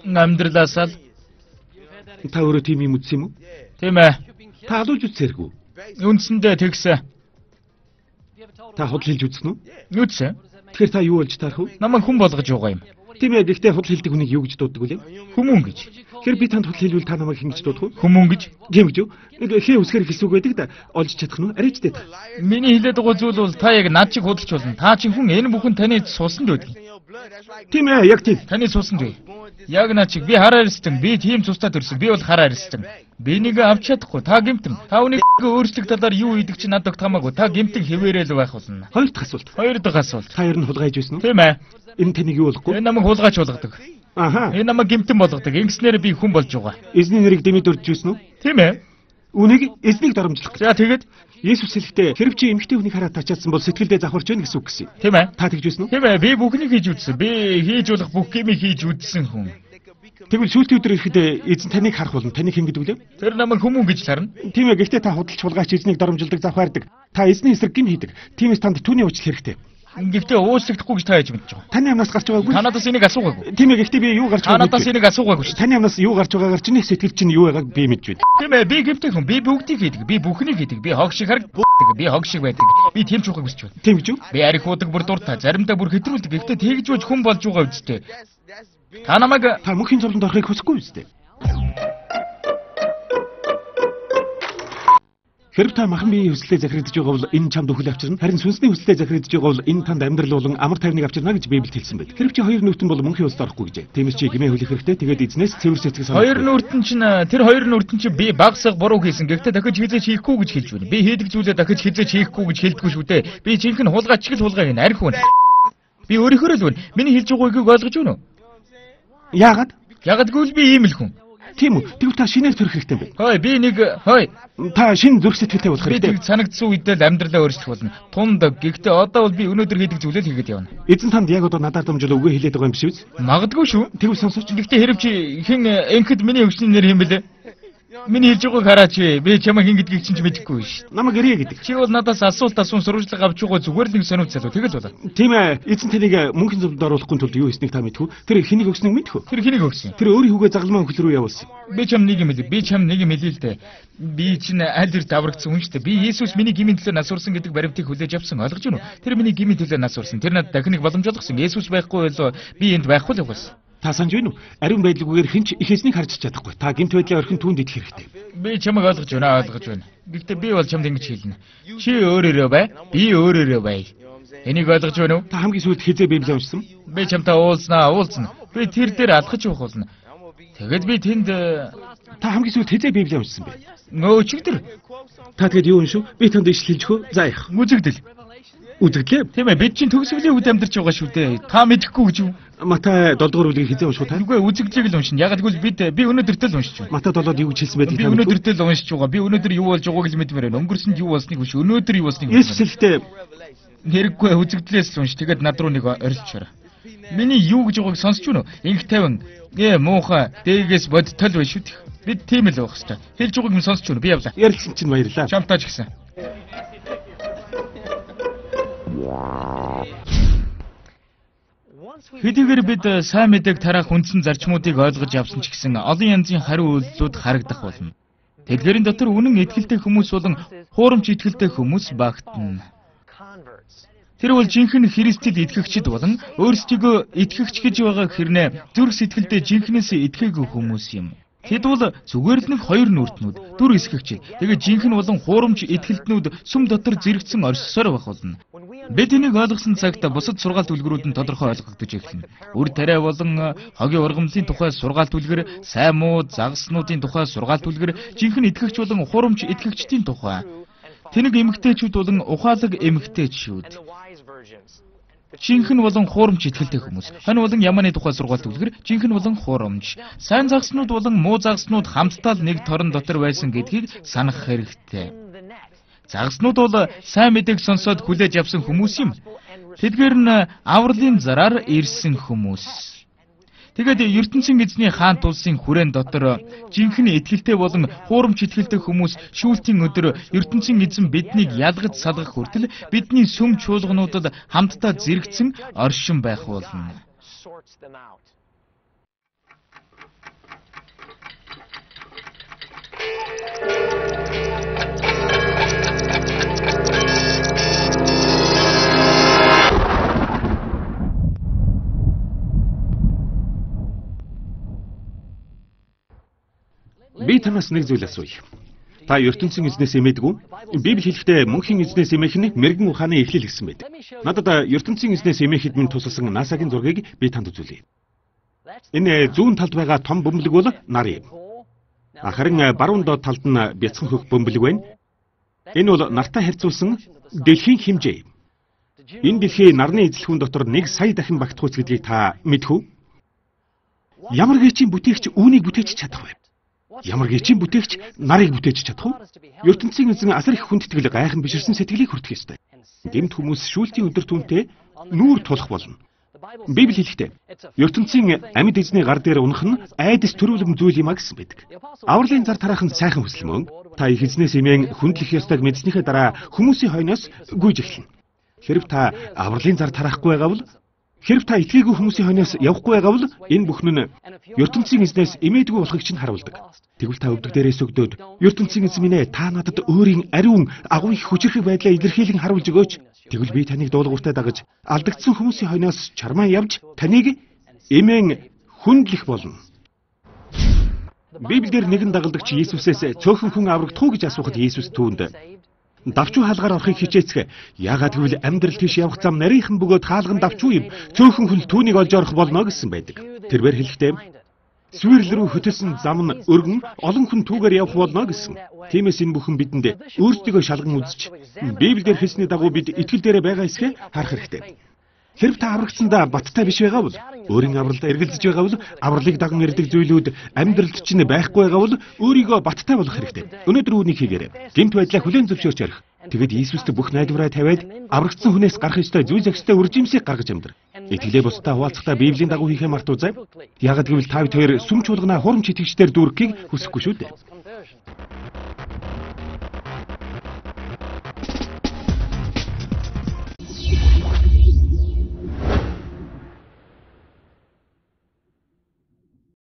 Амьдралаасаа л. Та өөрөө тийм юм үзсэн юм уу? Тийм ээ. Та алууж үзсээргүй. Үндсэндээ тэгсэн. Та худал хэлж үзсэн үү? Үтсэн. Тэгэхээр та юу болж таарах вэ? Намайг хүн болгож байгаа юм. Тийм ээ, гэхдээ худал хэлдэг хүнийг юу гэж дууддаг вэ? Хүмүүн гэж. Тэгэхээр би танд худал хэлвэл та намайг хэн гэж дуудах вэ? Хүмүүн гэж. Тийм гэж юу? Нэг хээ үсгээр хэлсүүг байдаг да. Олж чадах нь арайч дээд. Миний хэлээд байгаа зүйл бол та яг над чиг худалч болно. Та чинь хүн энэ бүхэн таны цусанд байдаг. Тийм ээ, яг тийм. Таны цусанд бай. Яг над чиг би хараар ирсэн. Би тийм цустай төрсөн. Би бол хараар ирсэн. Би нэг авч чадахгүй. Та гэмтэн. Та үнийг өөрчлөх талаар юу хийдэг чи надад хамаагүй. Та гэмтэн хэвээрэл байх болно. Хоёр дахь асуулт. Хоёр дахь асуулт. Та ер нь хулгайж байсан уу? Тийм ээ. Энэ таныг юу болохгүй? Энэ намайг хулгайч болгодог. Аха. Энэ намайг гэмтэн болгодог. Ингэснээр би хүн болж байгаа. Эзний нэрийг дэмэд урьж юусэн үү? Тийм ээ. Үнийг эзнийг доромжлох. За тэгээд Есүс хэлэхдээ хэрв чи эмэгтэй хүнийг хараад тачаадсан бол сэтгэлдээ завхарч байна гэсэн үг гэсэн. тийм ээ. Та тэгж юусэн үү? Тийм ээ. Би бүхнийг хийж үзсэн. Би хийж болох бүх гэмийг хийж үзсэн хүн. Тэгвэл сүүлтийн өдөр ирэхэд эзэн таныг харах болно. Таныг хэн гэдэг вэ? Тэр намайг хүмүүн гэж харна. Тийм ээ, гэхдээ та худалч хулгайч эзнийг доромжилдаг, завхаардаг. Та эзний эсрэг гим хийдэг. Тиймээс танд түүний уучлал хэрэгтэй. Гэхдээ уучлагдахгүй гэж та яаж мэдэж байгаа? Таны амнаас гарч байгаагүй. Танадаас энийг асуугаагүй. Тийм ээ, гэхдээ би юу гарч Танадаас энийг асуугаагүй шүү. Таны амнаас юу гарч байгаагаар чиний сэтгэл чинь юу байгааг би мэдж байна. Тийм ээ, би гэмтэй хүн. Би бүгдийг хийдэг. Би бүхнийг хийдэг. Би хог шиг харагдаг. Би хог шиг байдаг. Би тийм ч ухаг хүсч байна. Тийм гэж юу? Би арих уудаг бүр дуртай. Заримдаа бүр хэтрүүлдэг. Гэхдээ тэгж бож хүн болж байгаа үстэй. Та намайг Та мөнхийн зовлонд орохыг хүсэхгүй үстэй. Хэрв та махан биеийн хүслээ захирагдж байгаа бол энэ чамд өхөл авчирна. Харин сүнсний хүслээ захирагдж байгаа бол энэ танд амьдрал болон амар тайвныг авчирна гэж Библиэд хэлсэн байд. Хэрв чи хоёр нүртэн бол мөнхийн улсад орохгүй гэжээ. Тиймээс чи гэмээ хөлөх хэрэгтэй. Тэгээд эзнээс цэвэр сэтгэл санаа. хоёр нүртэн чинь тэр хоёр нүртэн чинь би багсаг буруу хийсэн. Гэхдээ дахиж хизээч хийхгүй гэж хэлж байна. Би хийдэг зүйлээ дахиж хизээч хийхгүй гэж хэлдэггүй шүү дээ. Би жинхэнэ хулгайч л хулгайг арх хүн. Би өөрийнхөө л байна. Миний хэлж байгаагийг ойлгож байна уу? Яагаад? Ягдгүй л би ийм л хүн. Тийм үү? Тэгвэл та шинээр төрөх хэрэгтэй юм байна. Хөөе би нэг хөөе Та шинэ зүрх сэтгэлтэй болох би хэрэгтэй. тэг санагдсан үедээ л амьдралаа өөрчлөх болно. Тундаг. Гэхдээ одоо бол би өнөөдөр хийдэг зүйлээ л хийгээд явна. Эзэн танд яг одоо надад дамжуул үгээ хэлээд байгаа юм биш үү? Магадгүй шүү. Тэгвэл сонсооч. Гэхдээ хэрэг чи хэн энхэд миний өвчний нэр юм бэлээ? Миний хэлж байгааг хараач. Би чамаа хэн гэдгийг чинь ч мэдэхгүй шүү. Намайг ирээ гэдэг. Чи бол надаас асуулт асуун сурвалжлага авч байгаа зүгээр л нэг сониуд залуу тэгэл болоо. Тийм ээ. Эзэн таныг мөнхийн зовлонд оруулахгүй тулд юу хийснийг та мэдхүү? Тэр хэнийг өгснөг мэдхүү? Тэр хэнийг өгсөн? Тэр өөрийн хүүгээ загалмаа хөл рүү явуулсан. Би чам нэг юм хэлээ. Би чам нэг юм хэлээ л дээ. Би чинь аль эрт даврагдсан хүн шүү дээ. Би Есүс миний гмийн төлөө нас урсан гэдэг баримтыг хүлээж авсан. Ойлгож байна уу? Тэр миний гмийн төлөө нас урсан. Тэр надад дахиныг боломж олгосон. Есүс байхгүй бол би энд байхгүй л угаас. Та санаж байна уу? Ариун байдлгүйгээр хинч их эзнийг харж чадахгүй. Та гэмт байдлаа орхин түүнд идэх хэрэгтэй. Би чамайг ойлгож байна. Гэхдээ би бол чамд ингэж хэлнэ. Чи өөрөөрөө бай. Би өөрөөрөө бай. Энийг ойлгож байна уу? Та хамгийн сүүлд хизээ Библийг уншсан? Би чамтай уулзна. Би тэр дээр алхаж явах болно. Тэгэд би тэнд та хамгийн сүүлд хизээ Библийг уншсан бэ? Нөөчигдэр. Та тэгэд юу уншив? Би танд ишл хэлж хөө. За яах. Үзэгдэл. Үзэгдлээ. Тийм ээ, бид чинь төгсгөлийн үед амьдарч байгаа шүү дээ. Та мэдэхгүй гэж юу? Матай 7 дугаар бүлгийг хизээ унших та? Үгүй үзэгдлийг л уншина. Яг л би өнөөдөртөө л уншиж байна. Матай 7-д юу гэж хэлсэн байдгийг би өнөөдөртөө л уншиж байгаа. Би өнөөдөр юу болж байгааг л мэдмээр байна. Өнгөрсөнд юу болсныг биш. Өнөөдөр юу болсныг. Есүс хэлэхдээ хэрэггүй үзэгдлээс л унш. Тэгээд над руу нэг орилчаарай. Миний юу гэж байгааг сонсч байна уу? Инх тавин. Муухай. Дээгээс бодтол байна шүү дээ. Бид тийм л байх хэвээр. Хэлж байгааг нь сонсч байна. Би явлаа. Ярилцсан чинь баярлаа. Чамтаач гисэн. Хэдийгээр бид сайн мэдээг тараах үндсэн зарчмуудыг ойлгож авсан ч гэсэн олон янзын хариу үйлдэлүүд харагдах болно. Тэдгээрийн дотор үнэн итгэлтэй хүмүүс болон хуурамч итгэлтэй хүмүүс багтана. Тэр бол жинхэнэ Христэд итгэгчид болон өөрсдийгөө итгэгч гэж байгаа хэрнээ зүрх сэтгэлдээ жинхнээсээ итгээгүй хүмүүс юм. Тэд бол зүгээр л нэг хоёр нүртнүүд, дүр эсгэгч. Тэгээд жинхэнэ болон хуурамч итгэлтнүүд сүм дотор зэрэгцэн оршсоор байх болно. Бид энийг ойлгосон цагт бусад сургаалт үлгэрүүд нь тодорхой ойлгогдож эхэлнэ. Үр тариа болон хогийн ургамлын тухай сургаалт үлгэр, сайн муу загаснуудын тухай сургаалт үлгэр, жинхэнэ итгэгч болон хуурамч итгэгчдийн тухай. Тэнэг эмэгтэйчүүд болон ухаалаг эмэгтэйчүүд. Жинхэнэ болон хуурамч итгэлтэй хүмүүс. Хань болон ямааны тухай сургаалт үлгэр, жинхэнэ болон хуурамч. Сайн загаснууд болон муу загаснууд хамтдаа л нэг торон дотор байсан гэдгийг санах хэрэгтэй. Загаснууд бол сайн мэдээг сонсоод хүлээж авсан хүмүүс юм. Тэдгээр нь авралын зараар ирсэн хүмүүс. Тэгээд ертөнцийн эзний хаант улсын хүрээнд дотор жинхэнэ итгэлтэй болон хуурамч итгэлтэй хүмүүс шүүлтийн өдөр ертөнцийн эзэн биднийг ялгаж салгах хүртэл бидний сүм чуулгануудад хамтдаа зэрэгцэн оршин байх болно. Би танаас нэг зүйл асууя. Та ертөнцийн эзнээс эмээдгүй? Библи хэлэхдээ мөнхийн эзнээс эмээх нь мэрэгэн ухааны эхлэл гэсэн байдаг. Надад ертөнцийн эзнээс эмээхэд минь тусалсан НАСА-гийн зургийг би танд үзүүлье. Энэ зүүн талд байгаа том бөмбөлөг бол нар юм. Харин баруун доод талд нь бяцхан хөх бөмбөлөг байна. Энэ бол нартай харьцуулсан дэлхийн хэмжээ. Энэ дэлхийн нарны эзлэхүүн дотор 1 сая дахин багтахуйц гэдгийг та мэдэх үү? Ямар гэчийн бүтээгч үүнийг бүтээж чадах вэ? Ямар гэчийн бүтээгч нарыг бүтээж чадах вэ? ертөнцийн эзэн асар их хүндэтгэл гайхан биширсэн сэтгэлийг хүртэх ёстой. Гэмт хүмүүс шүүлтийн өдөр түнтэй нүүр тулах болно. Библи хэлэхдээ ертөнцийн амьд эзний гар дээр унах нь айдас төрүүлэм зүйл юм а гэсэн байдаг. Авралын зар тараах нь сайхан хүсэл мөн. Та их эзнээс эмээн хүндлэх ёстойг мэдснийхээ дараа хүмүүсийн хойноос гүйж эхэлнэ. Хэрв та авралын зар тараахгүй байгаа бол Хэрв та итгээгүй хүмүүсийн хойноос явахгүй байгаа бол энэ бүхэн нь ертөнцийн эзнээс эмээдгүй болохыг чинь харуулдаг. Тэгвэл та өвдөг дээрээс өгдөөд ертөнцийн эзэн минь та надад өөрийн ариун агуу их хүчрэх байдлаа илэрхийлэн харуулж өгөөч. Тэгвэл би таныг дуулууртай дагаж алдагдсан хүмүүсийн хойноос чармаа явж таныг эмээн хүндлэх болно. Библиэр нэгэн дагалдагч Иесусээс цөөхөн хүн аврагдах уу гэж асуухад Иесус түүнд давчуу хаалгаар орохыг хичээцгээ. Яагаад гэвэл амьдрал тийш явах зам нарийнхан бөгөөд хаалган давчуу юм. Цөөхөн хүн түүнийг олж орох болно гэсэн байдаг. Тэрээр хэлэхдээ Сүрэл рүү хөтөлсөн зам нь өргөн олон хүн түүгээр явах болно гэсэн. Тиймээс энэ бүхэн бидэнд өөрсдийгөө шалган үзэж Библиэр хэлсний дагуу бид итгэл дээрээ байгаа эсхэ харах хэрэгтэй. Хэрв та аврагдсандаа баттай биш байгаа бол өөрийн авралд эргэлзэж байгаа бол авралыг даган ирдэг зүйлүүд амьдралд чинь байхгүй байгаа бол өөрийгөө баттай болох хэрэгтэй. Өнөөдөр үүнийг хийгээрэй. Гэмт байдлаа хүлээн зөвшөөрч ярих. Тэгэд Иесуст бүх найдвараа тавиад аврагдсан хүнээс гарах ёстой зүйл зохистой үржимсийг гаргаж амьдар. Итгэлээ бусдаа хуваалцахдаа Библийн дагуу хийхээ мартуузай. Яагад гэвэл та хоёр сүм чуулгана хурамч итгэгчдээр дүүргэхийг хүсэхгүй шүү дээ.